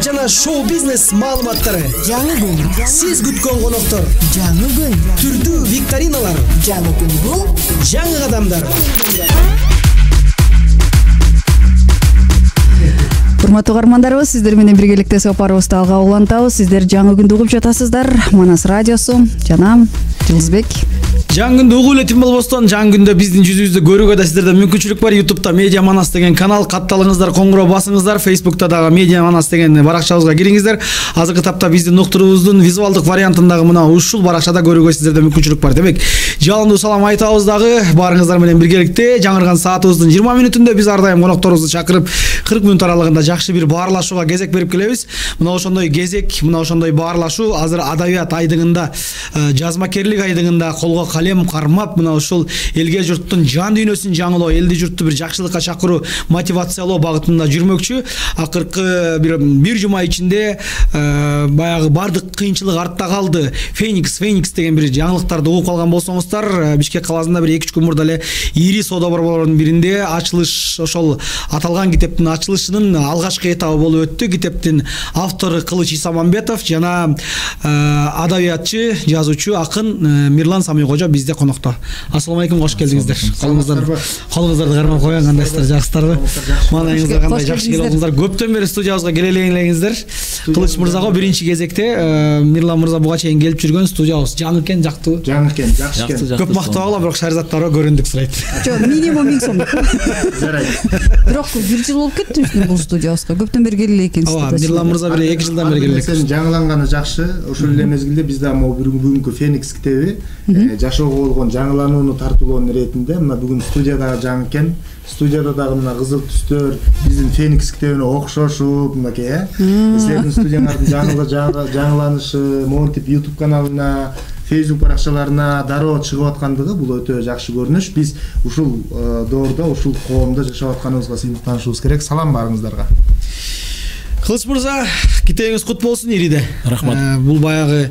жана шоу бизнес маалыматтары. Жаңы күн. Сиз күткөн коноктор. Жаңы күн. Түрдүү викториналар. Жаңы күн бул. Жаңы кадамдар. Урматтуу каармандарыбыз, сиздер менен биргеликте сапарыбызды алга улантабыз. Сиздер жаңы күндү угуп жатасыздар. Манас радиосу жана Жылдызбек. Жаңы күндү угуп элетим болбостон, жаңы күндө биздин жүзүбүздү көрүүгө да сиздерде мүмкүнчүлүк бар. YouTube'да Медиа Манас деген канал катталыңыздар, коңгуроо басыңыздар. Facebook'та дагы Медиа Манас деген баракчабызга кириңиздер. Азыркы тапта биздин уктуруубуздун визуалдык вариантындагы мына ушул баракчада көрүүгө сиздерде мүмкүнчүлүк бар. Демек, жалындуу салам айтабыз дагы баарыңыздар менен биргеликте. Жаңырган саатыбыздын 20 мүнөтүндө биз ар дайым конокторубузду чакырып 40 мүнөт аралыгында жакшы бир баарлашууга кезек берип келебиз. Мына ошондой кезек, мына ошондой баарлашуу азыр адабият айдыгында, жазмакерлик айдыгында колго калем кармап, мына ушул элге журттун жан дүйнөсүн жаңылоо, элди журтту бир жакшылыкка чакыруу, мотивациялоо багытында жүрмөкчү. Акыркы бир жума ичинде баягы бардык кыйынчылык артта калды. Феникс деген бир жаңылыктарды угуп калган болсоңуздар, Бишкек калаасында бир 2-3 күн мурда эле ири соода борборлорунун биринде ачылыш, ошол аталган китептин ачылышынын алгачкы этабы болуп өттү. Китептин автору Кылыч Исамамбетов жана адабиятчы, жазуучу, акын Мирлан Самийкожо бизде конокто. Ассаламу алейкум, кош келдиңиздер. Колуңуздарды кармап койгон, кандайсыздар, жакшысыздарбы? Маанайыңыздар кандай, жакшы келиңиздер. Көптөн бери студиябызга келе элеңиздер. Кылыч мырзага биринчи кезекте Мирлан мырза буга чейин келип жүргөн студиябыз жаңы экен, жактыбы? Жаңы экен, жакшы экен. Көп мактабагыла, бирок Шаризаттарга көрүндүк сурайт. Жок, минимум 1000 сом. Жарайт. Бирок бир жыл болуп кетти бул студиябызга. Көптөн бери келе экенсиз. Ооба, Мирлан мырза бир 2 жылдан бери келе. Сен жаңыланганы жакшы. Ошол эле мезгилде биз да могу бүгүнкү Феникс китеби жашоого болгон жаңыланууну тартуулоонун иретинде мына бүгүн студиядагы жаңы экен. Студияда дагы мына кызыл түстөр биздин Феникс китебине окшошуп, мынакей, силердин студияңардын жаңыланышы монтип YouTube каналына, Facebook баракчаларына дароо чыгып аткандыгы бул өтө жакшы көрүнүш. Биз ушул доордо, ушул коомдо жашап атканыбызга сыйынтанышыбыз керек. Салам баарыңыздарга. Кылыч мырза, китебиңиз кут болсун ириде. Рахмат. Бул баягы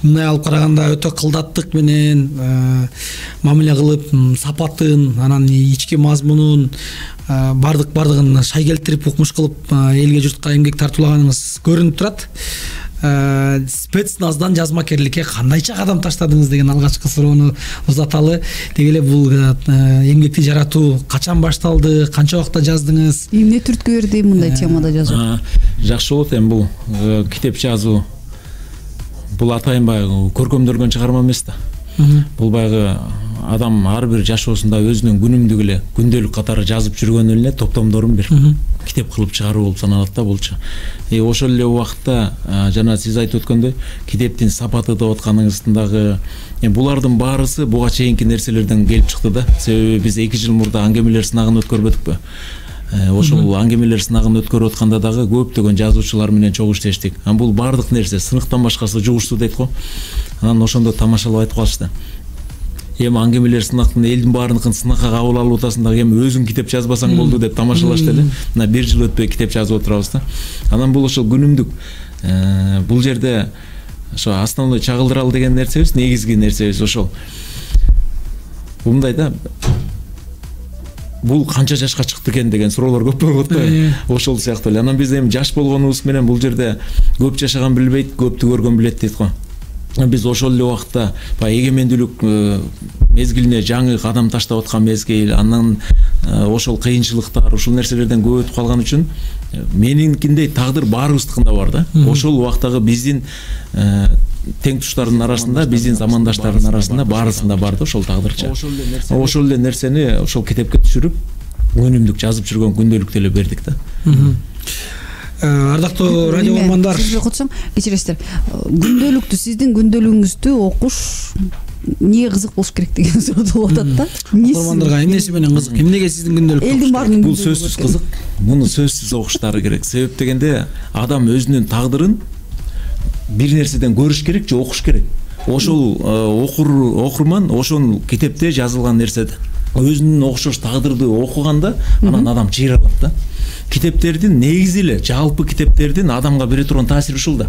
мындай алып караганда өтө кылдаттык менен мамиле кылып, сапатын, анан ички мазмунун бардыгын шай келтирип, укмуш кылып элге журтка эмгек тартуулаганыңыз көрүнүп турат. Спецназдан жазмакерликке кандайча кадам таштадыңыз деген алгачкы суроону узаталы. Деги эле бул эмгекти жаратуу качан башталды, канча убакта жаздыңыз? Эмне түрткү берди мындай темада жазуу? Жакшы болот эми бул китеп жазуу. Бул атайын баягы көркөмдөлгөн чыгарма эмес да. Бул баягы адам ар бир жашоосунда өзүнүн күнүмдүк эле күндөлүк катары жазып жүргөн эле топтомдорун бир китеп кылып чыгаруу болуп саналат да булчу. Ошол эле убакытта жана сиз айтып өткөндөй китептин сапаты деп атканыңыздагы булардын баарысы буга чейинки нерселерден келип чыкты да. Себеби биз 2 жыл мурда аңгемелер сынагын өткөрбөдүкпү? Ошол аңгемелер сынагын өткөрүп атканда дагы көптөгөн жазуучулар менен чогуу иштештик. Бул бардык нерсе сыныктан башкасы жугуштуу дейт го. Анан ошондо тамашалап айтып калышты. Эми аңгемелер сынактын элдин баарыныкын сынакка кабыл алып атасың дагы эми өзүң китеп жазбасаң болду деп тамашалашты эле. Мына 1 жыл өтпөй китеп жазып отурабыз да. Анан бул ошол күнүмдүк бул жерде ошо основной чагылдыралы деген нерсебиз, негизги нерсебиз ошол. Мындай да, бул канча жашка чыкты экен деген суроолор көп болот го. Ошол сыяктуу эле. Анан биз эми жаш болгонубуз менен бул жерде көп жашаган билбейт, көптү көргөн билет дейт го. Биз ошол эле убакытта эгемендүүлүк мезгилине жаңы кадам таштап аткан мезгил, анан ошол кыйынчылыктар, ушул нерселерден көп өтүп калган үчүн менинкиндей тагдыр баарыбыздыкында бар да. Ошол убактагы биздин тең туштардын арасында, биздин замандаштардын арасында баарысында бар да ошол тагдырча. Ошол эле нерсени ошол китепке түшүрүп, күнүмдүк жазып жүргөн күндөлүктү эле бердик да. Ардактуу радио угурмандар, сиз котсоң, кечиресиздер. Күндөлүктү, сиздин күндөлүгүңүздү окуш эмнеге кызык болуш керек деген суроо болуп атат да. Угурмандарга эмнеси менен кызык? Эмнеге сиздин күндөлүк? Элдин баарынын бул сөзсүз кызык. Муну сөзсүз окуштары керек. Себеп дегенде адам өзүнүн тагдырын бир нерседен көрүш керек же окуш керек. Ошол окурман ошол китепте жазылган нерседе өзүнүн окшош тагдырды окуганда анан адам чыйралат да. Китептердин негизи эле жалпы китептердин адамга бере турган таасири ушул да.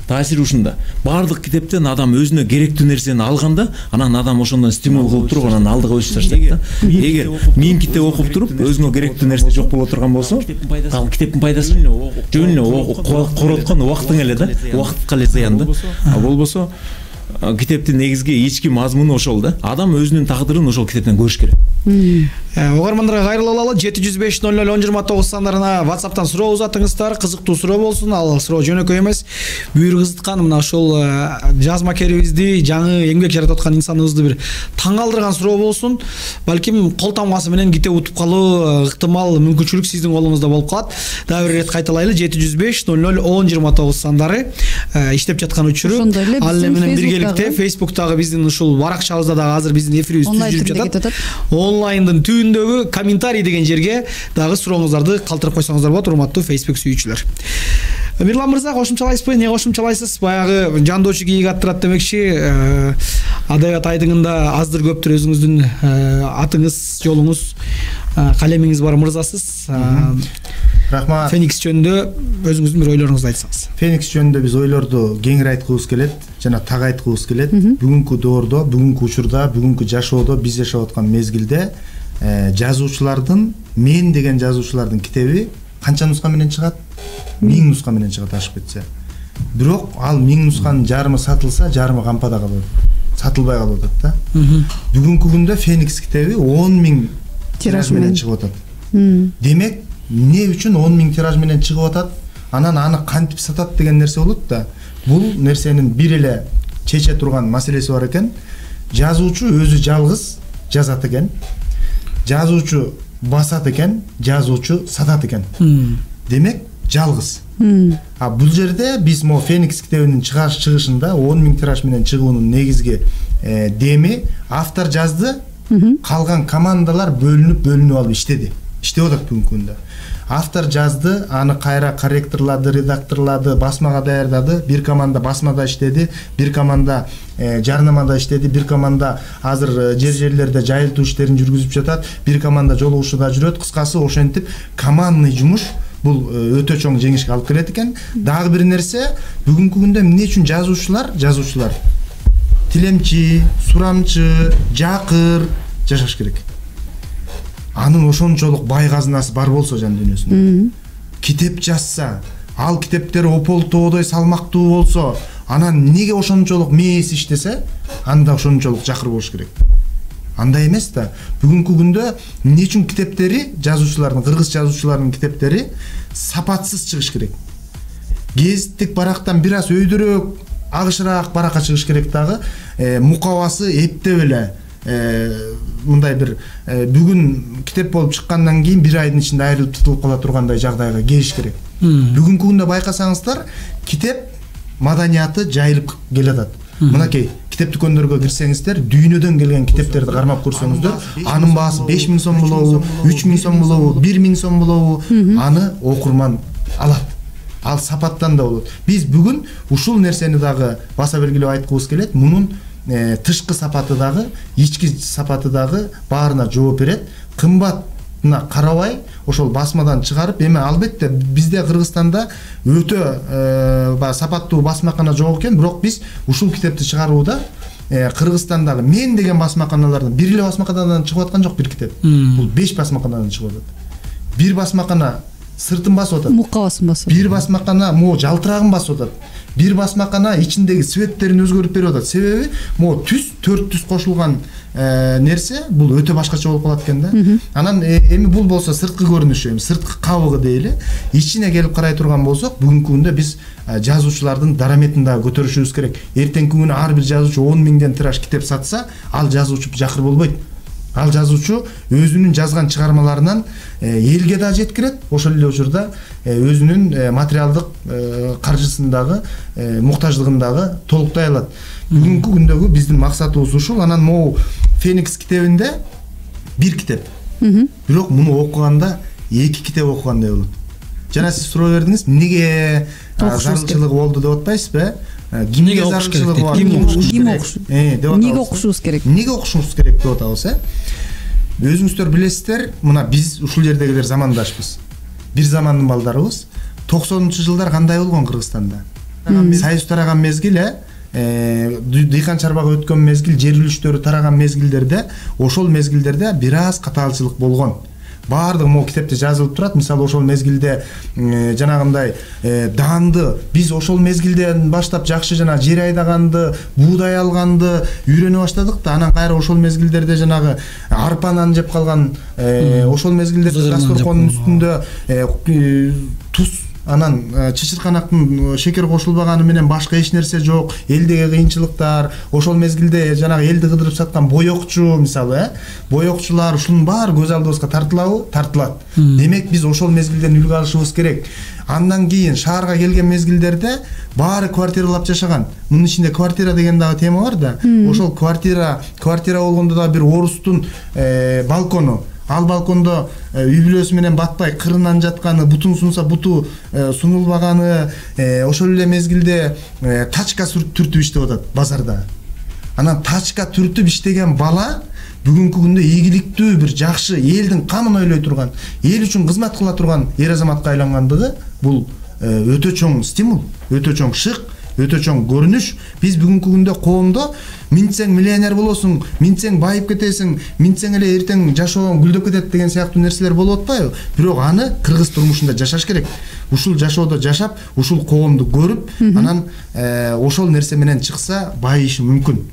таасири ушунда. Баардык китептен адам өзүнө керектүү нерсени алганда, анан адам ошондон стимул кылып туруп, анан алдыга өсүп таштайт да. Эгер 1000 китеп окуп туруп, өзүңө керектүү нерсе жок боло турган болсо, ал китептин пайдасы жөн эле короткон убактың эле да, убакытка эле зыян да. А болбосо китептин негизги ички мазмуну ошол да. Адам өзүнүн тагдырын ошол китептен көрүш керек. Угармандарга кайрылып алалы. 705-00-1029 сандарына WhatsApp'тан суроо узатыңыздар. Кызыктуу суроо болсун. Ал суроо жөнөкөй эмес. Бүйүр кызыткан мына ошол жазмакерибизди, жаңы эмгек жаратып аткан инсаныбызды бир таң калтырган суроо болсун. Балким кол тамгасы менен китеп утуп калуу ыктымал, мүмкүнчүлүк сиздин колуңузда болуп калат. Дагы бир ирет кайталайлы. 705-00-1029 сандары иштеп жаткан учуру. Ал менен биргеликте Facebook'тагы биздин ушул баракчабызда дагы азыр биздин эфирибиз түзүлүп жатат. Онлайндын түбүндөгү комментарий деген жерге дагы сурооңуздарды калтырып койсоңуздар болот, урматтуу Facebook сүйүүчүлөр. Мирлан мырза, кошумчалайсызбы? Эмне кошумчалайсыз? Баягы жандоочу кийик аттырат демекчи, адабият айдыңында аздыр көптүр өзүңүздүн атыңыз, жолуңуз, калемиңиз бар мырзасыз. Рахмат. Феникс жөнүндө өзүңүздүн бир ойлоруңузду айтсаңыз. Феникс жөнүндө биз ойлорду кеңири айткыбыз келет, жана так айткыбыз келет. Бүгүнкү доордо, бүгүнкү учурда, бүгүнкү жашоодо, биз жашап аткан мезгилде жазуучулардын, мен деген жазуучулардын китеби канча нуска менен чыгат? 1000 нуска менен чыгат ашып кетсе. Бирок ал 1000 нусканын жарымы сатылса, жарымы кампада калат. Сатылбай калып атат да. Бүгүнкү күндө Феникс китеби 10.000 тираж менен чыгып атат. Демек, эмне үчүн 10.000 тираж менен чыгып атат? Анан аны кантип сатат деген нерсе болот да. Бул нерсенин бир эле чече турган маселеси бар экен. Жазуучу өзү жалгыз жазат экен. Жазуучу басат экен, жазуучу сатат экен. Демек, жалгыз. А бул жерде биз мо Феникс китебинин чыгышында 10.000 тираж менен чыгуунун негизги деми автор жазды, калган командалар бөлүнүп алып иштеди. Иштеп атат бүгүнкү күндө. Автор жазды, аны кайра корректорлады, редакторлады, басмага даярдады. Бир команда басмада иштеди, бир команда жарнамада иштеди, бир команда азыр жерлерде жайылтуу иштерин жүргүзүп жатат, бир команда жолугушууда жүрөт. Кыскасы ошентип командный жумуш бул өтө чоң жеңишке алып келет экен. Дагы бир нерсе, бүгүнкү күндө эмне үчүн жазуучулар тилемчи, сурамчы, жакыр жашаш керек. Анын ошончолук бай казынасы бар болсо жан дүйнөсүндө. Китеп жазса, ал китептер ополтоодой салмактуу болсо, анан неге ошончолук мээс иштесе, анда ошончолук жакыр болуш керек. Андай эмес да. Бүгүнкү күндө эмне үчүн китептери, жазуучулардын, кыргыз жазуучуларынын китептери сапатсыз чыгыш керек. Гезиттик барактан бир аз өйдөрөөк, агышыраак баракка чыгыш керек дагы. Мукабасы эптеп эле мындай бир бүгүн китеп болуп чыккандан кийин бир айдын ичинде айрылып тутулуп кала тургандай жагдайга келиш керек. Бүгүнкү күндө байкасаңыздар, китеп маданияты жайылып келатат. Мынакей китеп дүкөндөргө кирсеңиздер, дүйнөдөн келген китептерди кармап көрсөңүздөр, анын баасы 5000 сом болобу, 3000 сом болобу, 1000 сом болобу, аны окурман алат. Ал сапаттан да болот. Биз бүгүн ушул нерсени дагы баса белгилеп айткыбыз келет. Мунун тышкы сапаты дагы, ички сапаты дагы баарына жооп берет. Кымбатына карабай, ошол басмадан чыгарып, эми албетте бизде Кыргызстанда өтө сапаттуу басмакана жок экен, бирок биз ушул китепти чыгарууда Кыргызстандагы мен деген басмаканалардан бир эле басмаканадан чыгып аткан жок бир китеп. Бул 5 басмаканадан чыгып атат. Бир басмакана сыртын басып атат. Мукабасын басып. Бир басмакана мо жалтырагын басып атат. Бир басмакана ичиндеги цветтерин өзгөртүп берип атат. Себеби мо түз, 4 түз кошулган нерсе бул өтө башкача болуп калат экен да. Анан эми бул болсо сырткы көрүнүшү, эми сырткы кабыгы дейли. Ичине келип карай турган болсок, бүгүнкү күндө биз жазуучулардын дараметин дагы көтөрүшүбүз керек. Эртеңки күнү ар бир жазуучу 10.000 тираж китеп сатса, ал жазуучу жакыр болбойт. Ал жазуучу өзүнүн жазган чыгармаларынан элге да жеткирет, ошол эле учурда өзүнүн материалдык каржысын дагы, муктаждыгын дагы толуктай алат. Бүгүнкү күндөгү биздин максатыбыз ушул. Анан могу Феникс китебинде бир китеп. Бирок муну окуганда 2 китеп окугандай болот. Жана сиз суроо бердиңиз, эмнеге зарылчылыгы болду деп атпайсызбы? Кимге зарылчылыгы бар? Эмнеге окушубуз керек? Эмнеге окушубуз керек деп атабыз, Өзүңүздөр билесиздер, мына биз ушул жердегилер замандашпыз. Бир замандын балдарыбыз. 90-жылдар кандай болгон Кыргызстанда? Союз тараган мезгил дыйкан чарбага өткөн мезгил, жер үлүштөрү тараган мезгилдерде, ошол мезгилдерде бир аз катаалчылык болгон. Баардыгы могу китепте жазылып турат. Мисалы ошол мезгилде жанагындай даанды биз ошол мезгилден баштап жакшы жана жер айдаганды, буудай алганды үйрөнө баштадык да. Анан кайра ошол мезгилдерде жанагы арпанан жеп калган, ошол мезгилдерде дасторкондун үстүндө туз, анан чычырканактын шекер кошулбаганы менен башка эч нерсе жок, элдеги кыйынчылыктар, ошол мезгилде жанагы элди кыдырып саткан боекчу, мисалы, боекчулар, ушунун баары көз алдыбызга тартылат. Демек биз ошол мезгилден үлгү алышыбыз керек. Андан кийин шаарга келген мезгилдерде баары квартиралап жашаган. Мунун ичинде квартира деген дагы тема бар да. Ошол квартира болгондо да бир орустун балкону, ал балкондо үй бүлөсү менен батпай кырынан жатканы, бутун сунса буту сунулбаганы, ошол эле мезгилде тачка түртүп иштеп атат базарда. Анан тачка түртүп иштеген бала бүгүнкү күндө ийгиликтүү, бир жакшы, элдин камын ойлой турган, эл үчүн кызмат кыла турган эр азаматка айлангандыгы бул өтө чоң стимул, өтө чоң шык, өтө чоң көрүнүш. Биз бүгүнкү күндө коомдо минтсең миллионер болосуң, минтсең байып кетесиң, минтсең эле эртең жашоон гүлдөп кетет деген сыяктуу нерселер болуп атпайбы? Бирок аны кыргыз турмушунда жашаш керек. Ушул жашоодо жашап, ушул коомду көрүп, анан ошол нерсе менен чыкса байышы мүмкүн.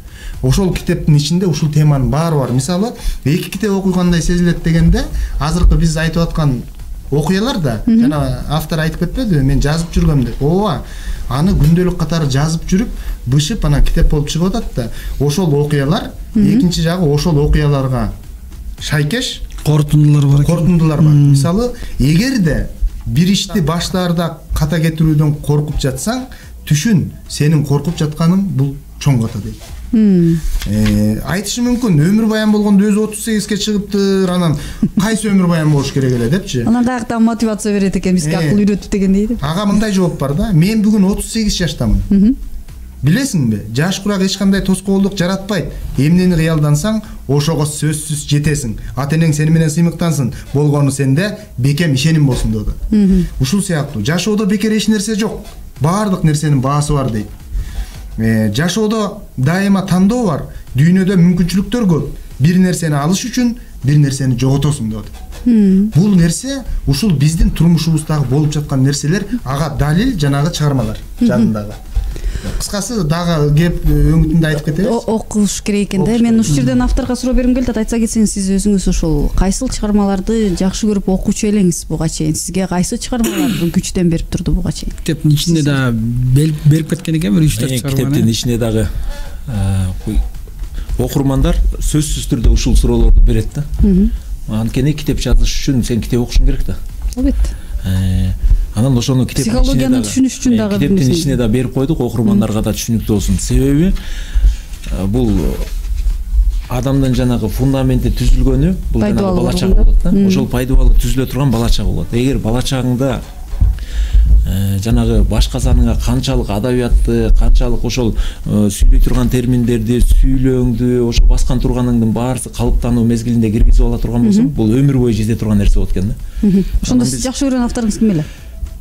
Ошол китептин ичинде ушул теманын баары бар. Мисалы, эки китеп окуйгандай сезилет дегенде, азыркы биз айтып аткан окуялар да, жана автор айтып кетпедиби, мен жазып жүргөм деп. Ооба, аны күндөлүк катары жазып жүрүп, бышып анан китеп болуп чыгып атат да. Ошол окуялар, экинчи жагы ошол окуяларга шайкеш корутундулар бар. Мисалы, эгерде бир ишти баштаарда ката кетирүүдөн коркуп жатсаң, түшүн, сенин коркуп жатканың бул чоң ката дейт. Айтышы мүмкүн, өмүр баян болгондо өзү 38ге чыгыптыр, анан кайсы өмүр баян болуш керек эле депчи. Анан каяктан мотивация берет экен, бизге акыл үйрөтүп деген дейт. Ага мындай жооп бар да. Мен бүгүн 38 жаштамын. Билесиңби? Жаш курак эч кандай тоскоолдук жаратпайт. Эмнени кыялдансаң, ошого сөзсүз жетесиң. Ата энең сени менен сыймыктансын, болгону сенде бекем ишеним болсун деп атат. Ушул сыяктуу жашоодо бекер эч нерсе жок. Баардык нерсенин баасы бар дейт. Жашоодо дайыма тандоо бар. Дүйнөдө мүмкүнчүлүктөр көп. Бир нерсени алыш үчүн бир нерсени жоготосуң деп атат. Бул нерсе ушул биздин турмушубуздагы болуп жаткан нерселер, ага далил жанагы чыгармалар жадындагы. Кыскасы дагы кеп өңүтүндө айтып кетебиз. Окуш керек экен да. Мен ушул жерден авторго суроо бергим келди. Айтса кетсеңиз, сиз өзүңүз ошол кайсыл чыгармаларды жакшы көрүп окучу элеңиз буга чейин? Сизге кайсы чыгармалар күчтөн берип турду буга чейин? Китептин ичинде да берип кеткен экен, бир 3-4 чыгарма. Китептин ичинде дагы окурмандар сөзсүз түрдө ушул суроолорду берет да. Анткени китеп жазыш үчүн сен китеп окушуң керек да. Албетте. Анан ошону китептин психологияны түшүнүш үчүн дагы китептин ичине да берип койдук, окурмандарга да түшүнүктүү болсун. Себеби бул адамдын жанагы фундаменти түзүлгөнү, бул жанагы бала чак болот да. Ошол пайдалуу түзүлө турган бала чак болот. Эгер бала чагыңда жанагы башка саныңа канчалык адабиятты, канчалык ошол сүйлөй турган терминдерди, сүйлөөңдү, ошо баскан турганыңдын баары калыптануу мезгилинде киргизип ала турган болсоң, бул өмүр бою жете турган нерсе болот экен да. Ошондо сиз жакшы көргөн авторуңуз ким эле?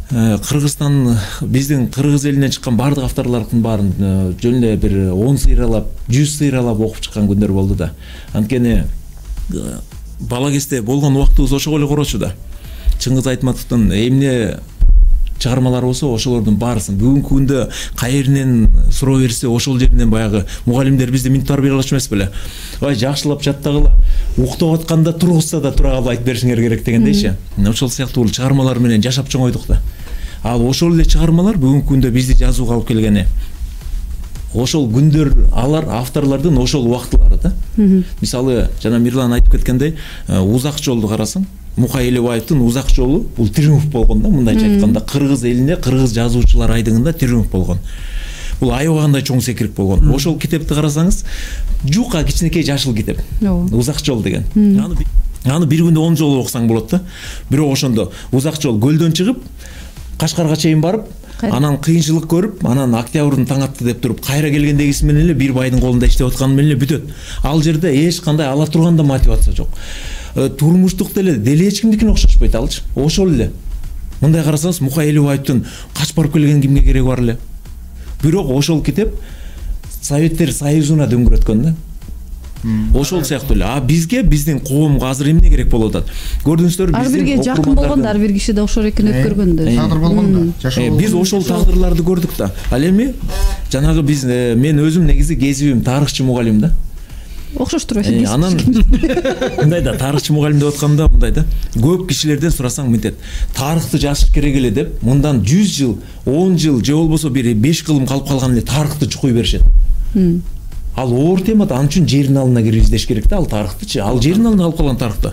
Кыргызстан, биздин кыргыз элинен чыккан баардык авторлордун баарын жөн эле бир 10 сыйралап, 100 сыйралап окуп чыккан күндөр болду да. Анткени бала кезде болгон убактыбыз ошого эле корочу да. Чыңгыз Айтматовдун эмне чыгармалары болсо, ошолордун баарысын бүгүнкү күндө кайеринен суроо берсе, ошол жеринен баягы мугалимдер бизди минут тарбиялай алчу эмес беле. Ой, жакшылап жаттагыла, уктап атканда тургузса да тура калбай айтып беришиңер керек дегендейчи. Ошол сыяктуу чыгармалар менен жашап чоңойдук да. Ал ошол эле чыгармалар бүгүнкү күндө бизди жазууга алып келгени. Ошол күндөр, алар авторлордун ошол убактылары да. Мисалы, жана Мирлан айтып кеткендей, узак жолду карасаң, Мукай Элебаевдин узак жолу бул триумф болгон да, мындайча айтканда, кыргыз элине, кыргыз жазуучулар айдыгында триумф болгон. Бул аябагандай чоң секирип болгон. Ошол китепти карасаңыз, жука кичинекей жашыл китеп. Узак жол деген. Аны бир күндө 10 жолу окусаң болот да. Бирок ошондо узак жол көлдөн чыгып, Кашкарга чейин барып, анан кыйынчылык көрүп, анан октябрдын таң атты деп туруп, кайра келгендегиси менен эле бир байдын колунда иштеп атканы менен эле бүтөт. Ал жерде эч кандай ала турганда мотивация жок. Турмуштук деле эч кимдикине окшошпойт алчы. Ошол эле. Мындай карасаңыз, Мукай Элебаевдин качып барып келген кимге кереги бар эле? бирок ошол китеп Советтер Союзуна дөңгөрөткөн да. Ошол сыяктуу эле. А бизге, биздин коомго азыр эмне керек болуп атат? Көрдүңүздөр, ар бирге жакын болгондо, ар бир киши да ошол экен өткөргөндө. Тагдыр болгондо, жашоо. Биз ошол тагдырларды көрдүк да. Ал эми жанагы биз мен өзүм негизи кезибим тарыхчы мугалим да. Окшош турбайбы? Анан мындай да, тарыхчы мугалим деп атканда мындай да. Көп кишилерден сурасаң мынтет. Тарыхты жазыш керек эле деп, мындан 100 жыл, 10 жыл же болбосо бир 5 кылым калып калган эле тарыхты чукуй беришет. Ал оор тема да, ал үчүн жерин алына кирип издеш керек да, ал тарыхтычы. Ал жерин алына калып калган тарыхты.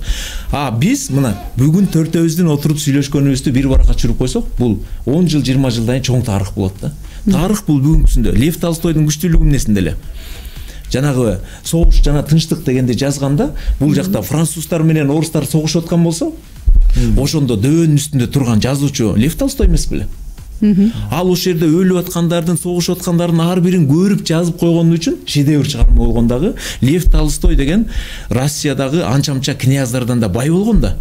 А биз мына бүгүн төртөөбүздүн отуруп сүйлөшкөнүбүздү бир баракка чүрүп койсок, бул 10 жыл, 20 жылдан чоң тарых болот да. Тарых бул бүгүнкүсүндө Лев Толстойдун күчтүүлүгү эмнесинде эле. Жанагы согуш жана тынчтык дегенди жазганда, бул жакта француздар менен орустар согушуп аткан болсо, ошондо дөбөнүн үстүндө турган жазуучу Лев Толстой эмес беле? Ал ошол жерде өлүп аткандардын, согушуп аткандардын ар бирин көрүп жазып койгону үчүн шедевр чыгарма болгондагы Лев Толстой деген Россиядагы анча-мынча князьдардан да бай болгон да.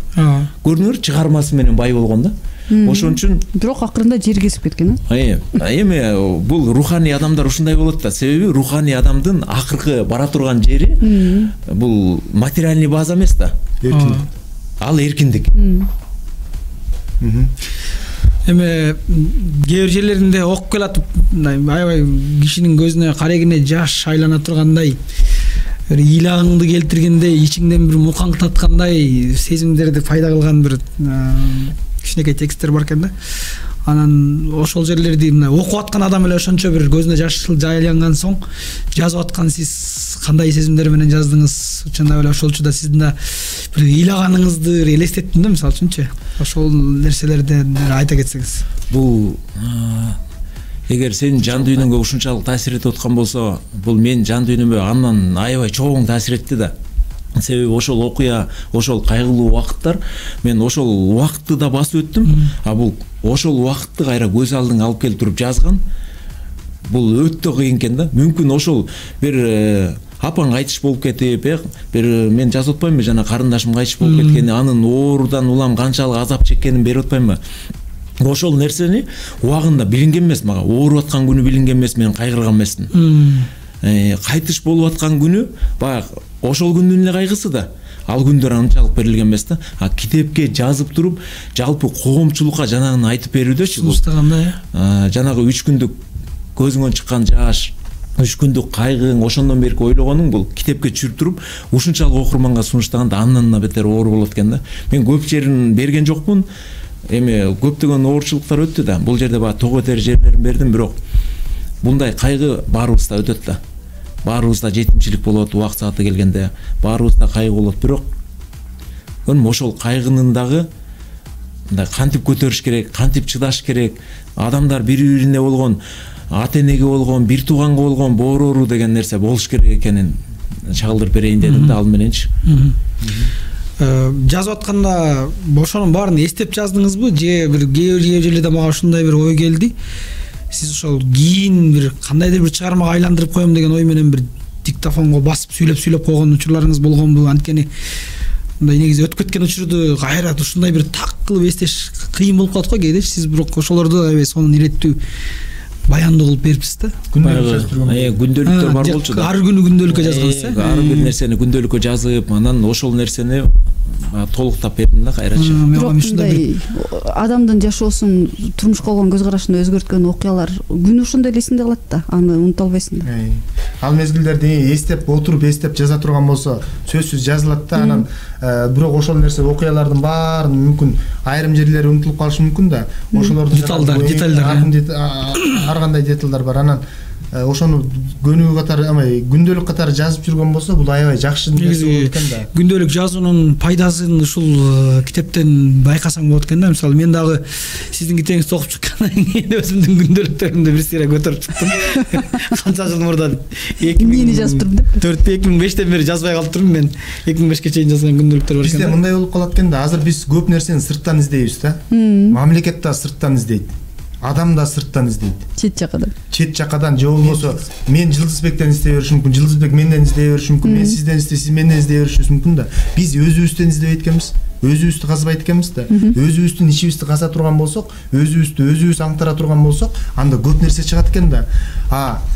Көрдүңөр, чыгармасы менен бай болгон да. Ошон үчүн бирок акырында жер кесип кеткен. Эми бул руханий адамдар ушундай болот да. Себеби руханий адамдын акыркы бара турган жери бул материальный база эмес да. Эркиндик. Ал эркиндик. Эми кээ бир жерлеринде окуп келатып, аябай кишинин көзүнө карегине жаш айлана тургандай, бир ыйлагыңды келтиргендей, ичиңден бир мукаңтаткандай сезимдерди пайда кылган бир кичинекей тексттер бар экен да. Анан ошол жерлерди мына окуп аткан адам эле ошончо бир көзүнө жаш жайланган соң жазып аткан сиз кандай сезимдер менен жаздыңыз? Чындап эле ошолчу да сиздин да бир ыйлаганыңызды элестеттим да, мисалы үчүнчү. Ошол нерселерди айта кетсеңиз. Бул эгер сенин жан дүйнөңгө ушунчалык таасир этип аткан болсо, бул менин жан дүйнөмө андан аябай чоң таасир этти да. Себеби ошол окуя, ошол кайгылуу убакыттар, мен ошол убакытты да басып өттүм. А бул ошол убакытты кайра көз алдыңа алып келип туруп жазган. Бул өтө кыйын экен да. Мүмкүн ошол бир апаң кайтыш болуп кетип, бир мен жазып атпаймынбы, жана карындашым кайтыш болуп кеткени, анын оорудан улам канчалык азап чеккенин берип атпаймынбы? Ошол нерсени убагында билинген эмес мага. Ооруп аткан күнү билинген эмес, мен кайгырган эмесмин. Кайтыш болуп аткан күнү баягы ошол күндүн эле кайгысы да. Ал күндөр анчалык берилген эмес да. А китепке жазып туруп, жалпы коомчулукка жанагын айтып берүүдөчү бул. Жанагы 3 күндүк көзүңөн чыккан жаш, 3 күндүк кайгың, ошондон берки ойлогонуң бул китепке түшүрүп туруп, ушунчалык окурманга сунуштаганда андан да бетер оор болот экен да. Мен көп жерин берген жокмун. Эми көптөгөн оорчулуктар өттү да. Бул жерде баягы тоо көтөр жерлерин бердим, бирок мындай кайгы баарыбызда өтөт да. Баарыбызда жетимчилик болот, убакыт сааты келгенде, баарыбызда кайгы болот, бирок ошол кайгынын дагы мындай кантип көтөрүш керек, кантип чыдаш керек, адамдар бири-бирине болгон, ата-энеге болгон, бир тууганга болгон боорору деген нерсе болуш керек экенин чагылдырып берейин дедим да, ал мененчи. Жазып атканда ошонун баарын эстеп жаздыңызбы же бир кээ бир жерлерде мага ушундай бир ой келди. Сиз ошол кийин бир кандайдыр бир чыгармага айландырып коем деген ой менен бир диктофонго басып сүйлөп койгон учурларыңыз болгонбу? Анткени мындай негизи өтүп кеткен учурду кайра ушундай бир так кылып эстеш кыйын болуп калат го кээдечи. Сиз бирок ошолорду аябай сонун иреттүү баяндуу кылып берипсиз да. Күндөлүктөр бар болчу да. Ар күнү күндөлүккө жазгансыз, ар бир нерсени күндөлүккө жазып, анан ошол нерсени толуктап бердим да кайрачы. Ушундай адамдын жашоосун, турмушка болгон көз карашын өзгөрткөн окуялар күн ошондой эле эсиңде калат да, аны унута албайсың да. Ал мезгилдерди эстеп отуруп эстеп жаза турган болсо сөзсүз жазылат да, анан бирок ошол нерсе окуялардын баарын мүмкүн айрым жерлери унутулуп калышы мүмкүн да. Ошолорду деталдар ар кандай деталдар бар. Анан ошону көнүгүү катары, күндөлүк катары жазып жүргөн болсо, бул аябай жакшы нерсе болот экен да. Күндөлүк жазуунун пайдасын ушул китептен байкасаң болот экен да. Мисалы мен дагы сиздин китебиңизди окуп чыккандан кийин өзүмдүн күндөлүктөрүмдү бир сыйра көтөрүп чыктым. Канча жыл мурдан 2000 жазып турдум деп. 2005-тен бери жазбай калып турмун мен. 2005ке чейин жазган күндөлүктөр бар экен. Бизде мындай болуп калат экен да, азыр биз көп нерсени сырттан издейбиз да. Мамлекет да сырттан издейт. Адам да сырттан издейт. Чет жакадан же болбосо мен Жылдызбектен издей беришим мүмкүн, Жылдызбек менден издей бериши мүмкүн, мен сизден издей, сиз менден издей беришиңиз мүмкүн да. Биз өзүбүздөн издебейт экенбиз. өзүбүздү казбайт экенбиз да. Өзүбүздүн ичибизди каза турган болсок, өзүбүз аңтара турган болсок, анда көп нерсе чыгат экен да.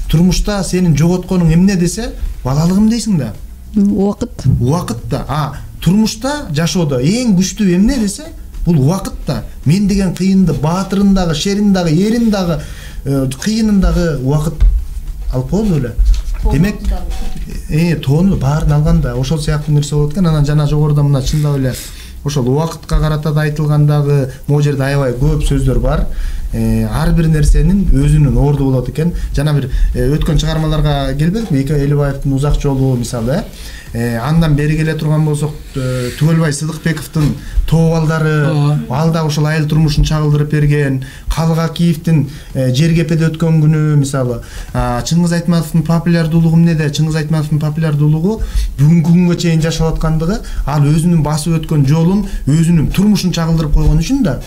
Турмушта сенин жоготконуң эмне десе, балалыгым дейсиң да. Убакыт да. Турмушта жашоодо эң күчтүү эмне десе, бул убакыт да. Мен деген кыйынды, баатырын дагы, шерин дагы, эрин дагы, кыйынын дагы убакыт алып коебу эле. Демек, тоону баарын алганда ошол сыяктуу нерсе болот экен. Анан жана жогоруда мына чындап эле ошол убакытка карата да айтылгандагы могу жерде аябай көп сөздөр бар. Ар бир нерсенин өзүнүн орду болот экен. Жана бир өткөн чыгармаларга келбедикпи? Эке Элибаевдин Узак жолу мисалы, андан бери келе турган болсок, Түгөлбай Сыдыкбековдун Тоо балдары, ал да ошол айыл турмушун чагылдырып берген. Калга Киевдин Жергепеде өткөн күнү мисалы, Чыңгыз Айтматовдун популярдуулугу эмнеде? Чыңгыз Айтматовдун популярдуулугу бүгүнкү күнгө чейин жашап аткандыгы, ал өзүнүн басып өткөн жолун, өзүнүн турмушун чагылдырып койгон үчүн да.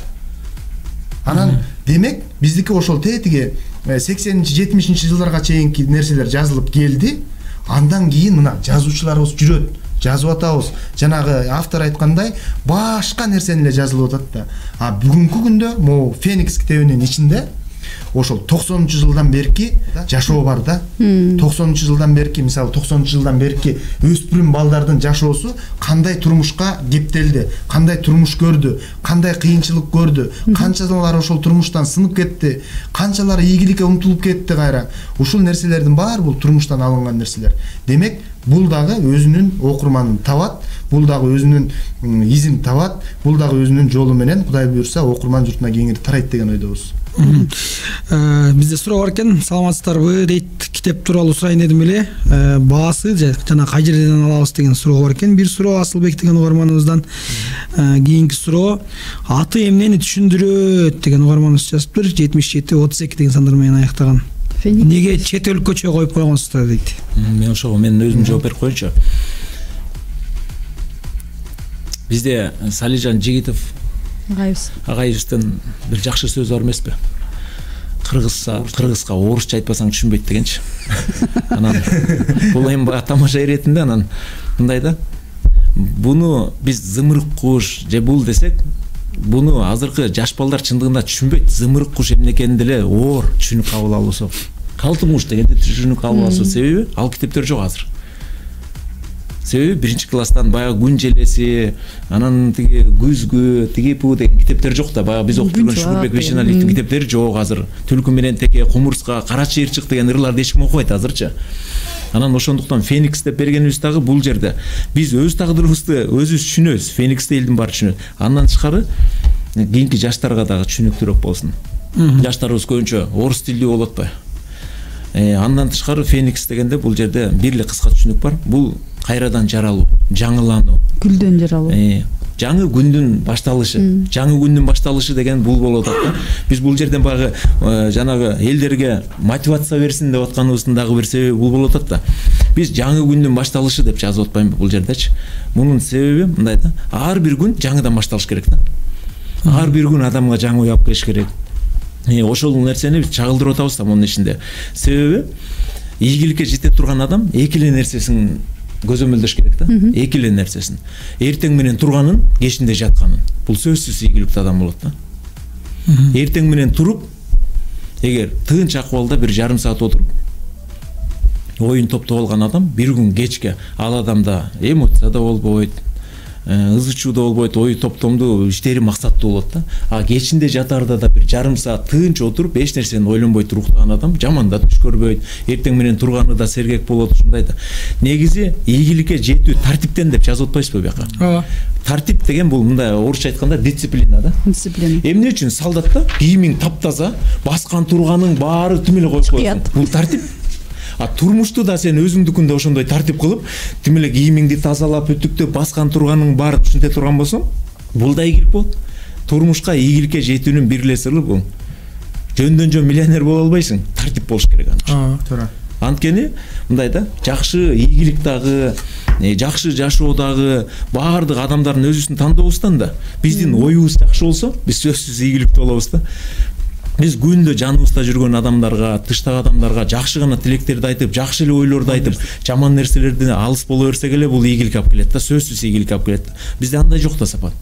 Анан демек биздики ошол тетиги 80-70 жылдарга чейинки нерселер жазылып келди. Андан кийин мына жазуучуларыбыз жүрөт, жазып атабыз. Жанагы автор айткандай башка нерсени эле жазылып атат да. Бүгүнкү күндө могу Феникс китебинин ичинде ошол 90-жылдан берки жашоо бар да. 90-жылдан берки, мисалы 90-жылдан берки өспүрүм балдардын жашоосу кандай турмушка кептелди, кандай турмуш көрдү, кандай кыйынчылык көрдү, канчалар ошол турмуштан сынып кетти, канчалар ийгиликке умтулуп кетти кайра. Ушул нерселердин баары бул турмуштан алынган нерселер. Демек, бул дагы өзүнүн окурманын табат, бул дагы өзүнүн изин табат, бул дагы өзүнүн жолу менен Кудай буйрса окурман журтуна кеңири тарайт деген ойдобуз. Бизде суроо бар экен, саламатсыздарбы дейт, китеп тууралуу сурайын дедим эле. Баасы жана кай жерден алабыз деген суроо бар экен. Бир суроо Асылбек деген угарманыбыздан. Кийинки суроо аты эмнени түшүндүрөт деген угарманыбыз жазыптыр. 77-32 деген сандар менен аяктаган. Неге чет өлкөчө коюп койгонсуздар дейт. Мен ошого өзүм жооп берип коеюнчу. Бизде Салижан Жигитов агайыбыздын бир жакшы сөзү бар эмеспи? Кыргызга орусча айтпасаң түшүнбөйт дегенчи. Анан бул эми тамаша иретинде анан мындай да. Буну биз зымырык куш же бул десек, буну азыркы жаш балдар чындыгында түшүнбөйт. Зымырык куш эмне экенин деле оор түшүнүп кабыл алуусу. Калтымуш дегенде түшүнүп кабыл алуусу. Себеби ал китептер жок азыр. Себеби биринчи класстан баягы күн желеси, анан тиги күзгү, тиги пу деген китептер жок да. Баягы биз окуп жүргөн Шукурбек Бейшеналиевдин китептери жок азыр. Түлкү менен теке, кумурска, кара чыйырчык деген ырларды эч ким окубайт азырчы. Анан ошондуктан Феникс деп бергенибиз дагы бул жерде биз өз тагдырыбызды өзүбүз түшүнөбүз. Фениксти элдин баары түшүнөт. Андан тышкары кийинки жаштарга дагы түшүнүктүүрөөк болсун. Жаштарыбыз көбүнчө орус тилдүү болуп атпайбы? Андан тышкары Феникс дегенде бул жерде бир эле кыска түшүнүк бар. Бул кайрадан жаралуу, жаңылануу, гүлдөн жаралуу. Жаңы күндүн башталышы, жаңы күндүн башталышы деген бул болот да. Биз бул жерден багы жанагы элдерге мотивация берсин деп атканыбыздын дагы бир себеби бул болот да. Биз жаңы күндүн башталышы деп жазып атпаймынбы бул жердечи? Мунун себеби мындай да. Ар бир күн жаңыдан башталыш керек да. Ар бир күн адамга жаңы уяп келиш керек. Ошол нерсени биз чагылдырып атабыз да мунун ичинде. Себеби ийгиликке жете турган адам эки эле нерсесин көзөмөлдөш керек да. Эки эле нерсесин. Эртең менен турганын, кечинде жатканын. Бул сөзсүз ийгиликтүү адам болот да. Эртең менен туруп, эгер тынч акыбалда бир жарым саат отуруп, оюн топтоп алган адам бир күн кечке ал адамда эмоция да болбойт, ызы чуу да болбойт, ою топтомдуу, иштери максаттуу болот да. Кечинде жатарда да бир жарым саат тынч отуруп, эч нерсени ойлонбой туруктаган адам жаман да түш көрбөйт. Эртең менен турганы да сергек болот, ушундай да. Негизи ийгиликке жетүү тартиптен деп жазып атпайсызбы бияка? Тартип деген бул мындай орусча айтканда дисциплина да. Дисциплина. Эмне үчүн солдатта кийимиң таптаза, баскан турганың баары тим эле коюп коесуң. Бул тартип. Турмушту да сен өзүңдүкүндө ошондой тартип кылып, тим эле кийимиңди тазалап, үтүктөп, баскан турганың баары түшүнтө турган болсоң, бул да ийгилик болот. Турмушка ийгиликке жетүүнүн бир эле сыры бул. Жөндөн жөн миллионер боло албайсың, тартип болуш керек анча. Туура. Анткени мындай да, жакшы ийгилик дагы, жакшы жашоо дагы баардык адамдардын өзүсүн тандообуздан да биздин оюбуз жакшы болсо, биз сөзсүз ийгиликтүү болобуз да. биз күндө жаныбызда жүргөн адамдарга, тыштагы адамдарга жакшы гана тилектерди айтып, жакшы эле ойлорду айтып, жаман нерселерден алыс боло берсек эле бул ийгилик алып келет да, сөзсүз ийгилик алып келет. Бизде андай жок да сапат.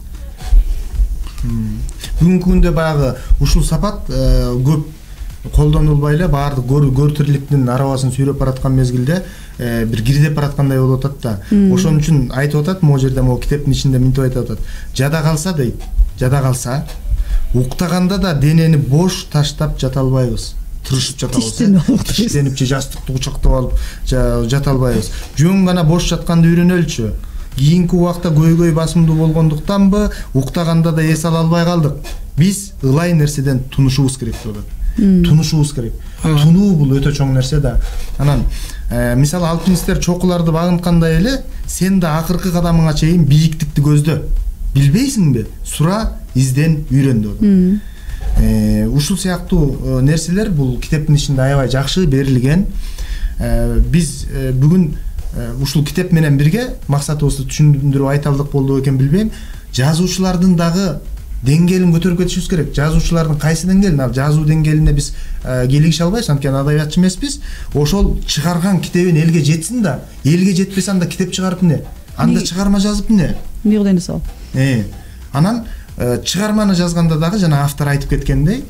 Бүгүнкү күндө баягы ушул сапат көп колдонулбай эле баардык көр тирликтин арабасын сүйрөп бараткан мезгилде бир кирдеп бараткандай болуп атат да. Ошон үчүн айтып атат, могу жерде могу китептин ичинде мынтип айтып атат. Жада калса дейт, жада калса уктаганда да денени бош таштап жата албайбыз. Тырышып жата албайбыз. Тиштенип же жастыкты кучактап алып жата албайбыз. Жөн гана бош жатканды үйрөнөлчү. Кийинки убакта көйгөй басымдуу болгондуктанбы уктаганда да эс ала албай калдык. Биз ылай нерседен тунушубуз керек деп атат. Тунушубуз керек. Тунуу бул өтө чоң нерсе да. Анан мисалы алпинисттер чокуларды багынткандай эле сен да акыркы кадамыңа чейин бийиктикти көздө. Билбейсиңби? Сура, изден, үйрөн деп атат. Ушул сыяктуу нерселер бул китептин ичинде аябай жакшы берилген. Биз бүгүн ушул китеп менен бирге максатыбызды түшүндүрүп айта алдык болду экен билбейм. Жазуучулардын дагы деңгээлин көтөрүп кетишибиз керек. Жазуучулардын кайсы деңгээлин, ал жазуу деңгээлине биз келиши албайбыз, анткени адабиятчы эмеспиз. Ошол чыгарган китебин элге жетсин да, элге жетпесе анда китеп чыгарып эмне? Анда чыгарма жазып эмне? Мыйгыдан сал. Анан чыгарманы жазганда дагы жана автор айтып кеткендей,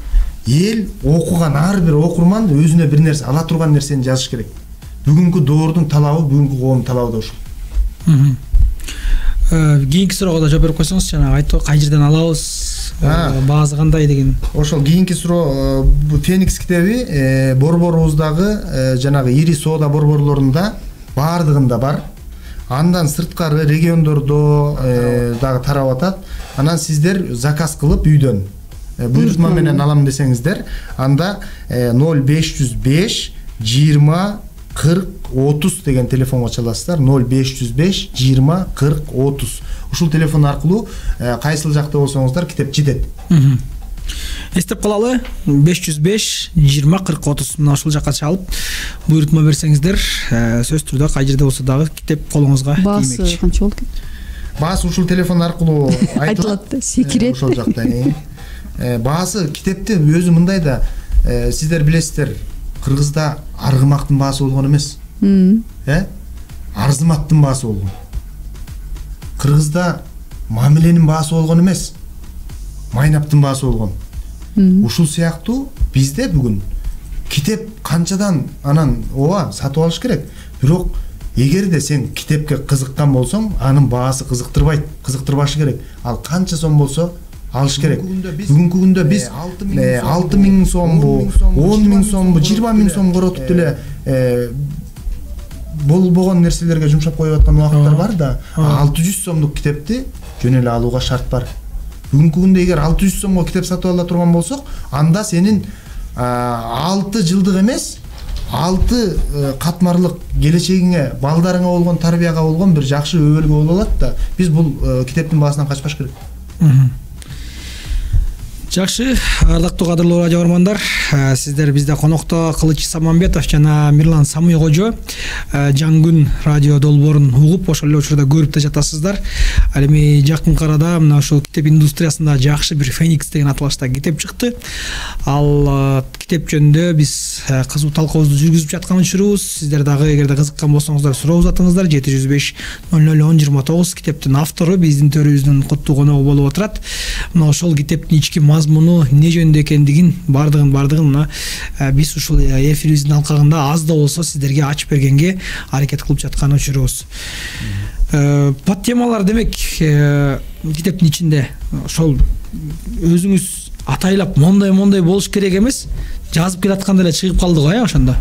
эл окуган ар бир окурман өзүнө бир нерсе ала турган нерсени жазыш керек. Бүгүнкү доордун талабы, бүгүнкү коомдун талабы да ушул. Кийинки суроого да жооп берип койсоңуз, жана айттык кай жерден алабыз, баасы кандай деген. Ошол кийинки суроо, Феникс китеби борборубуздагы жанагы ири соода борборлорунда баардыгында бар. Андан сырткары региондордо дагы тарап атат. Анан сиздер заказ кылып үйдөн буйрутма менен алам десеңиздер, анда 0505 20 40 30 деген телефонго чаласыздар. 0505 20 40 30. Ушул телефон аркылуу кайсыл жакта болсоңуздар китеп жетет. Эстеп калалы, 505 20 40 30 мына ушул жакка чалып буйрутма берсеңиздер, сөз түрдө кай жерде болсо дагы китеп колуңузга тиймекчи. Баасы канча болот экен? Баасы ушул телефон аркылуу айтылат, секирет. Ошол жакта. Баасы китепти өзү мындай да, сиздер билесиздер, Кыргызда аргымактын баасы болгон эмес. Арзыматтын баасы болгон. Кыргызда мамиленин баасы болгон эмес. Майнаптын баасы болгон. Ушул сыяктуу бизде бүгүн китеп канчадан анан ооба сатып алыш керек. Бирок эгерде сен китепке кызыккан болсоң, анын баасы кызыктырбайт, кызыктырбашы керек. Ал канча сом болсо алыш керек. Бүгүнкү күндө биз 6000 сомбу, 10000 сомбу, 20000 сом коротуп деле болбогон нерселерге жумшап коюп аткан убакыттар бар да. 600 сомдук китепти жөн эле алууга шарт бар. Бүгүнкү күндө эгер 600 сомго китеп сатып ала турган болсок, анда сенин 6 жылдык эмес, 6 катмарлык келечегиңе, балдарыңа болгон тарбияга болгон бир жакшы өбөлгө боло алат да. Биз бул китептин баасынан качпаш керек. Жакшы, ардактуу кадырлуу радио көрөрмандар, сиздер бизде конокто Кылыч Самамбетов жана Мирлан Самый кожо Жаң күн радио долбоорун угуп, ошол эле учурда көрүп да жатасыздар. Ал эми жакынкы арада мына ошол китеп индустриясында жакшы бир Феникс деген аталышта китеп чыкты. Ал китеп жөнүндө биз кызуу талкуубузду жүргүзүп жаткан учурубуз. Сиздер дагы эгерде кызыккан болсоңуздар суроо узатыңыздар. 705 001029 китептин автору биздин төрүбүздүн куттуу коногу болуп отурат. Мына ошол китептин ички мазмуну эмне жөнүндө экендигин бардыгын мына биз ушул эфирибиздин алкагында аз да болсо сиздерге ачып бергенге аракет кылып жаткан учурубуз. Подтемалар демек китептин ичинде ошол өзүңүз атайлап мондай болуш керек эмес, жазып келатканда эле чыгып калды го ошондо.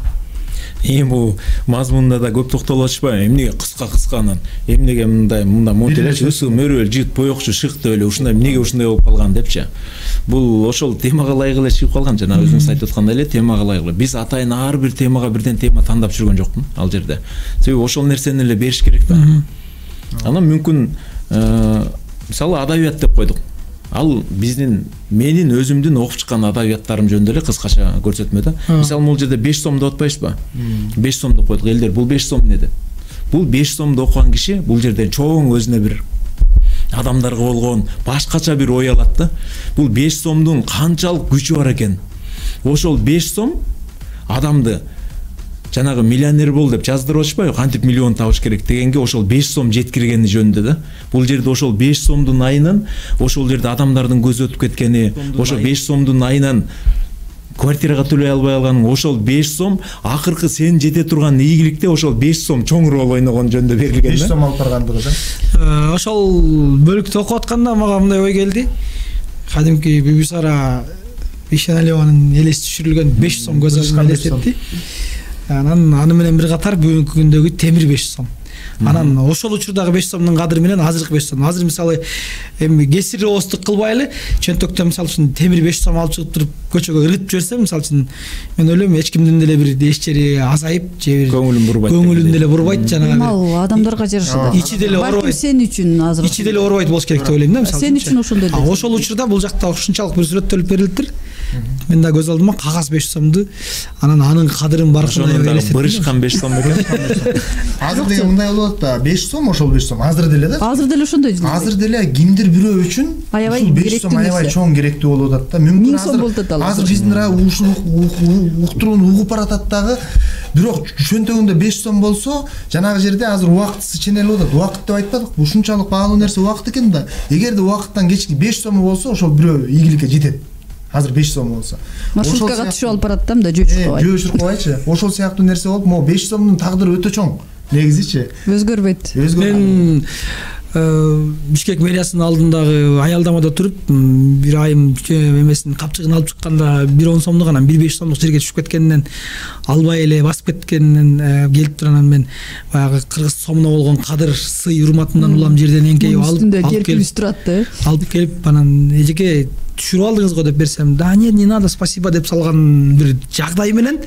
Бул мазмунда да көп токтолуп атышпайбы? Эмнеге кыска анан? Эмнеге мындай монтелеш өсү мөрөөл жыт боекчу шыкты эле ушундай эмнеге ушундай болуп калган депчи. Бул ошол темага ылайык эле чыгып калган. Жана өзүңүз айтып аткандай эле темага ылайык эле. Биз атайын ар бир темага бирден тема тандап жүргөн жокмун ал жерде. Себеби ошол нерсени эле бериш керек да. Анан мүмкүн мисалы адабият деп койдук. Ал менин өзүмдүн окуп чыккан адабияттарым жөнүндө эле кыскача көрсөтмө да. Мисалы бул жерде 5 сом деп атпайсызбы? 5 сом деп койдук. Элдер бул 5 сом эмне деп? Бул 5 сомду окуган киши бул жерден чоң өзүнө бир адамдарга болгон башкача бир ой алат да. Бул 5 сомдун канчалык күчү бар экен. ошол 5 сом адамды жанагы миллионер бол деп жаздырып атышпайбы, кантип миллион табыш керек дегенге ошол 5 сом жеткиргени жөнүндө да. Бул жерде ошол 5 сомдун айынан ошол жерде адамдардын көзү өтүп кеткени, ошол 5 сомдун айынан квартирага төлөй албай калганың, ошол 5 сом акыркы сен жете турган ийгиликте ошол 5 сом чоң роль ойногон жөнүндө берилген. 5 сом алып баргандыгы да. Ошол бөлүктү окуп атканда мага мындай ой келди. Кадимки Бибисара Ишеналиеванын элес түшүрүлгөн 5 сом көз алдыма элестетти. Анан аны менен бир катар бүгүнкү күндөгү темир 5 сом. Анан ошол учурдагы 5 сомдун кадыры менен азыркы 5 сом. Азыр мисалы эми кесири оостук кылбай эле чөнтөктөн мисалы үчүн темир 5 сом алып чыгып туруп көчөгө ыргытып жиберсем, мисалы үчүн мен ойлойм эч кимдин деле бир эч жери азайып же бир көңүлүн деле бурбайт жанагы. Ал адамдарга жараша да. Ичи деле оорубайт. Сен үчүн азыр. Ичи деле оорубайт болуш керек деп ойлойм да, мисалы. Сен үчүн ошондой эле. Ошол учурда бул жакта ушунчалык бир сүрөттөлүп берилиптир. Мен да көз алдыма кагаз 5 сомду, анан анын кадырын баркындай элестеттим. Бырышкан 5 сом экен. Азыр деген мындай болот да, 5 сом ошол 5 сом азыр деле да. Азыр деле ошондой. Азыр деле кимдир бирөө үчүн аябай 5 сом аябай чоң керектүү болуп атат да. Мүмкүн азыр биздин ушул уктурууну угуп баратат дагы. Бирок чөнтөгүндө 5 сом болсо, жанагы жерде азыр убактысы ченелип атат. Убакыт деп айтпадык, ушунчалык баалуу нерсе убакыт экен да. Эгерде убакыттан кечки 5 сом болсо, ошол бирөө ийгиликке жетет. Азыр 5 сом болсо. Маршруткага түшүп алып барат да, жөөчүркөбайчы. Ошол сыяктуу нерсе болуп, могу 5 сомдун тагдыры өтө чоң. Негизичи өзгөрбөйт. Мен Бишкек мэриясынын алдындагы аялдамада туруп, бир айым эмесин капчыгын алып чыкканда 1 сомдук, анан 1 5 сомдук жерге түшүп кеткенинен, албай эле басып кеткенинен келип турганан мен баягы кыргыз сомуна болгон кадыр, сый, урматымдан улам жерден эңкейип алып келип анан эжеке түшүрүп алдыңыз го деп берсем, да нет, не надо, спасибо деп салган бир жагдай менен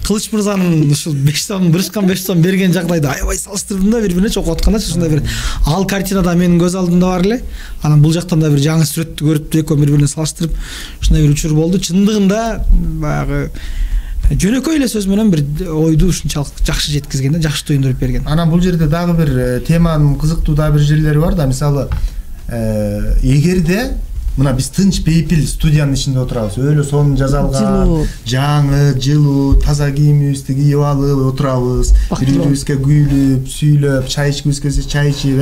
Кылыч мырзанын ушул 5 сом, бырышкан 5 сом берген жагдайды аябай салыштырдым да, бири-бирине чогуу аткандачы, ушундай бир ал картинада менин көз алдымда бар эле. Анан бул жактан да бир жаңы сүрөттү көрүп, экөө бири-бирине салыштырып, ушундай бир учур болду. Чындыгында баягы жөнөкөй эле сөз менен бир ойду ушунчалык жакшы жеткизген да, жакшы туюндуруп берген. Анан бул жерде дагы бир теманын кызыктуу да бир жерлери бар да. Мисалы, эгерде мына биз тынч бейпил студиянын ичинде отурабыз, өлө сонун жасалган, жаңы, жылуу, таза кийимибизди кийип алып отурабыз, бири-бирибизге күйлүп, сүйлөп, чай ичкибиз келсе чай ичип,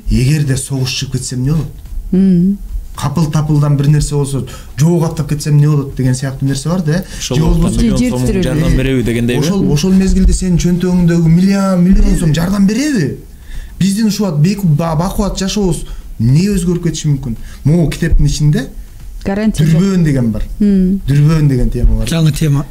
эгерде согуш чыгып кетсе эмне болот? Капыл-тапылдан бир нерсе болсо, жоо каптап кетсем эмне болот деген сыяктуу нерсе бар да. Же болбосо жардам береби дегендей. Ошол мезгилде сенин чөнтөгүңдөгү миллион сом жардам береби? Биздин ушул бакубат жашообуз не өзгөрүп кетиши мүмкүн? Могу китептин ичинде гарантия дүрбөөн деген бар. Дүрбөөн деген тема бар. Жаңы тема,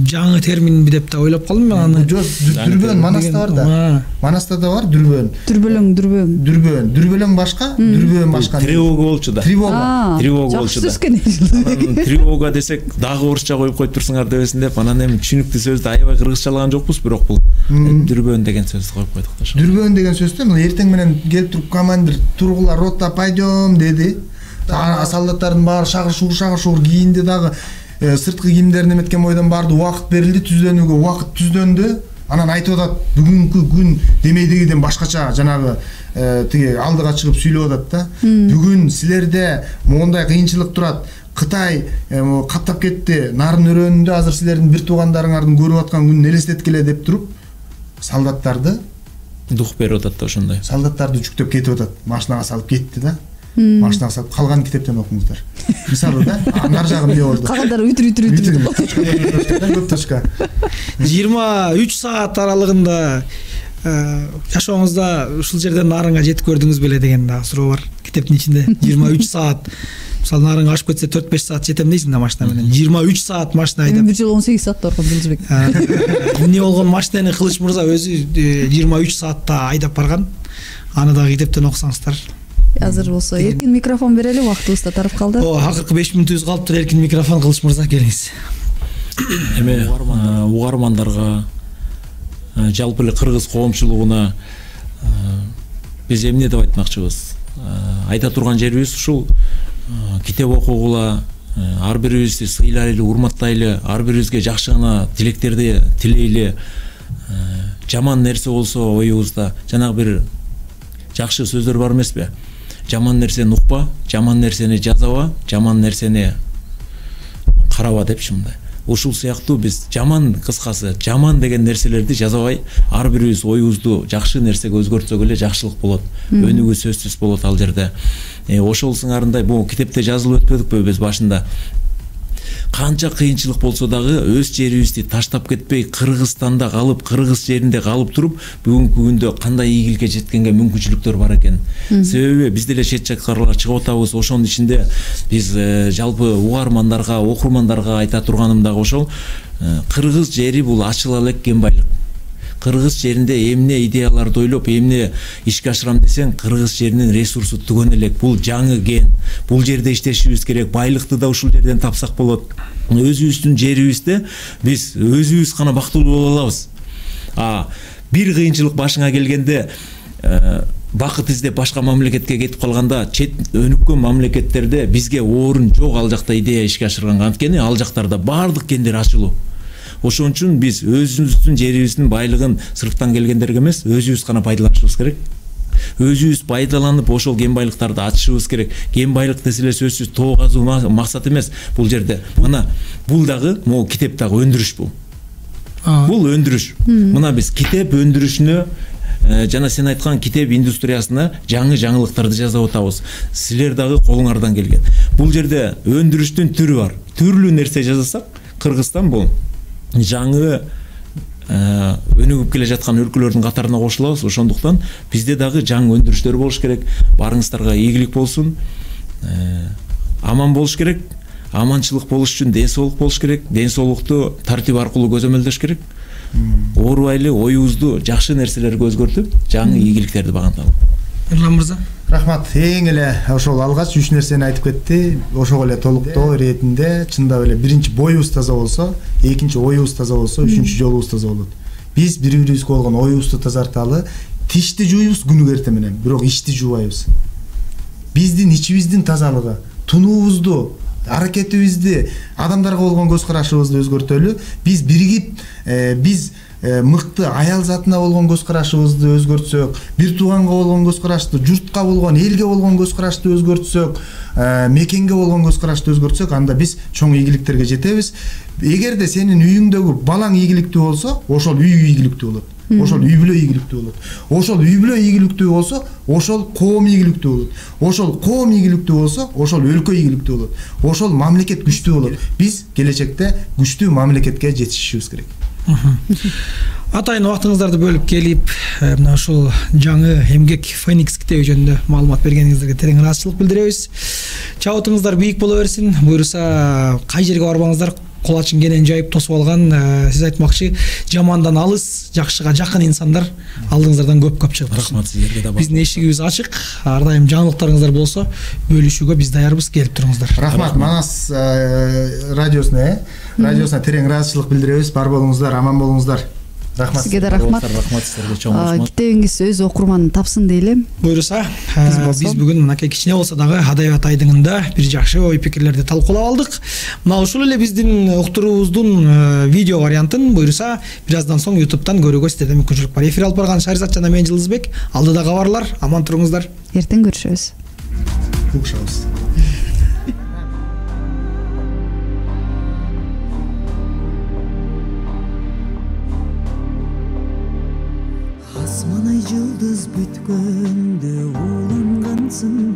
жаңы терминби деп да ойлоп калдым мен аны. Дүрбөөн Манаста бар да. Манаста да бар дүрбөөн. Дүрбөлөң башка, дүрбөөн башка. Тревога болчу да. Тревога болчу да. Тревога десек дагы орусча коюп коюп турсуңар дебесин деп, анан эми түшүнүктүү сөздү аябай кыргызчалаган жокпуз, бирок бул дүрбөөн деген сөздү коюп койдук да. Дүрбөөн деген сөздү эртең менен келип туруп командир тургула рота пойдем деди. Солдаттардын баары шагыр-шугур кийинди, дагы сырткы кийимдерин эметкен бойдон баарды убакыт берилди, түздөнүүгө убакыт түздөндү. Анан айтып атат, бүгүнкү күн демейдегиден башкача, жанагы тиги алдыга чыгып сүйлөп атат да. Бүгүн силерде моундай кыйынчылык турат. Кытай каптап кетти, нарын өрөөнүндө азыр силердин бир туугандарыңардын көрүп аткан күнүн элестеткиле деп туруп, солдаттарды дух берип атат да ошондой. Солдаттарды жүктөп кетип атат, машинага салып кетти да. Машинага салып калган китептен окуңуздар. Мисалы да, нар жагы эмне болду? Калгандары үтүр. Көп точка. 23 саат аралыгында жашооңузда ушул жерден нарынга жетип көрдүңүз беле деген да суроо бар китептин ичинде. 23 саат. Мисалы нарынга ашып кетсе 4-5 саат жетем дейсиң да машина менен. 23 саат машина айдап. Бир жолу 18 саатта барган Жылжыбек. Эмне болгон машинаны Кылыч мырза өзү 23 саатта айдап барган. Аны да китептен окусаңыздар. Азыр болсо эркин микрофон берели, убактыбыз да тарап калды. Акыркы 5 мүнөтүбүз калыптыр. Эркин микрофон Кылыч мырза, келиңиз. Эми угармандарга, жалпы эле кыргыз коомчулугуна биз эмне деп айтмакчыбыз? Айта турган жерибиз ушул: китеп окугула, ар бирибизди сыйлайлы, урматтайлы, ар бирибизге жакшы гана тилектерди тилейли. Жаман нерсе болсо оюбузда жанагы бир жакшы сөздөр бар эмеспи? Жаман нерсени укпа, жаман нерсени жазаба, жаман нерсени караба депчи мындай. ушул сыяктуу биз жаман, кыскасы жаман деген нерселерди жазабай, ар бирибиз оюбузду жакшы нерсеге өзгөртсөк эле жакшылык болот, өнүгүү сөзсүз болот ал жерде. Ошол сыңарындай бул китепте жазылып өтпөдүкпү биз башында? Канча кыйынчылык болсо дагы өз жерибизди таштап кетпей, Кыргызстанда калып, кыргыз жеринде калып туруп, бүгүнкү күндө кандай ийгиликке жеткенге мүмкүнчүлүктөр бар экен. Себеби биз деле чет жактарга чыгып атабыз. Ошонун ичинде биз жалпы угармандарга, окурмандарга айта турганым дагы ошол. Кыргыз жери бул ачыла элек кен байлык. Кыргыз жеринде эмне идеяларды ойлоп, эмне ишке ашырам десең, кыргыз жеринин ресурсу түгөн элек. Бул жаңы кен. Бул жерде иштешибиз керек. Байлыкты да ушул жерден тапсак болот. Өзүбүздүн жерибизде биз өзүбүз гана бактылуу боло алабыз. Бир кыйынчылык башыңа келгенде бакыт издеп башка мамлекетке кетип калганда, чет өнүккөн мамлекеттерде бизге орун жок ал жакта идея ишке ашырганга. Анткени ал жактарда баардык кендер ачылуу. Ошон үчүн биз өзүбүздүн жерибиздин байлыгын сырттан келгендерге эмес, өзүбүз гана пайдаланышыбыз керек. Өзүбүз пайдаланып, ошол кен байлыктарды ачышыбыз керек. Кен байлык деселе сөзсүз тоо казуу максат эмес бул жерде. Мына бул дагы, могу китеп дагы өндүрүш бул. Бул өндүрүш. Мына биз китеп өндүрүшүнө, жана сен айткан китеп индустриясына жаңы жаңылыктарды жасап атабыз. Силер дагы колуңардан келген. Бул жерде өндүрүштүн түрү бар. Түрлүү нерсе жасасак, Кыргызстан бул жаңы өнүгүп келе жаткан өлкөлөрдүн катарына кошулабыз. Ошондуктан бизде дагы жаңы өндүрүштөр болуш керек. Барыңыздарга ийгилик болсун. Аман болуш керек. Аманчылык болуш үчүн ден соолук болуш керек. Ден соолукту тартип аркылуу көзөмөлдөш керек. Оорубайлы оюбузду жакшы нерселерге өзгөртүп, жаңы ийгиликтерди баганталы. Эрлан мырза. Рахмат. Эң эле ошол алгач 3 нерсени айтып кетти. Ошол эле толуктоо иретинде чындап эле биринчи боюбуз таза болсо, экинчи оюбуз таза болсо, үчүнчү жолубуз таза болот. Биз бири-бирибизге болгон оюбузду тазарталы, тишти жууйбуз күнүгө эртең менен, бирок ичти жуубайбыз. Биздин ичибиздин тазалыгы, тунуубузду, аракетибизди, адамдарга болгон көз карашыбызды өзгөртөлү. Биз биригип, биз мыкты аял затына болгон көз карашыбызды өзгөртсөк, бир тууганга болгон көз карашты, журтка болгон, элге болгон көз карашты өзгөртсөк, мекенге болгон көз карашты өзгөртсөк, анда биз чоң ийгиликтерге жетебиз. Эгерде сенин үйүңдөгү балаң ийгиликтүү болсо, ошол үй ийгиликтүү болот. Ошол үй бүлө ийгиликтүү болот. Ошол үй бүлө ийгиликтүү болсо, ошол коом ийгиликтүү болот. Ошол коом ийгиликтүү болсо, ошол өлкө ийгиликтүү болот. Ошол мамлекет күчтүү болот. Биз келечекте күчтүү мамлекетке жетишибиз керек. Атайын убактыңыздарды бөлүп келип, мына ушул жаңы эмгек Феникс китеби жөнүндө маалымат бергениңиздерге терең ыраазычылык билдиребиз. Чабытыңыздар бийик боло берсин. Буюрса, кай жерге барбаңыздар, кол ачын кенен жайып тосуп алган, сиз айтмакчы, жамандан алыс, жакшыга жакын инсандар алдыңыздардан көп чыгып турсын. Рахмат сиздерге да. Биздин эшигибиз ачык. Ар дайым жаңылыктарыңыздар болсо, бөлүшүүгө биз даярбыз, келип туруңуздар. Рахмат. Манас радиосуна терең ыраазычылык билдиребиз. Бар болуңуздар, аман болуңуздар. Рахмат. Сизге да рахмат. Рахмат сиздерге чоң рахмат. Китебиңиз өз окурманын тапсын дейлем. Буюрса, биз бүгүн мынакей кичине болсо дагы адабият айдыңында бир жакшы ой пикирлерди талкуулап алдык. Мына ушул эле биздин уктуруубуздун видео вариантын буюрса бир аздан соң YouTube'дан көрүүгө сиздерде мүмкүнчүлүк бар. Эфир алып барган Шаризат жана мен Жылдызбек. Алдыда кабарлар. Аман туруңуздар. Эртең көрүшөбүз. Угушабыз. Асман ай жылдыз бүткөндө улангансың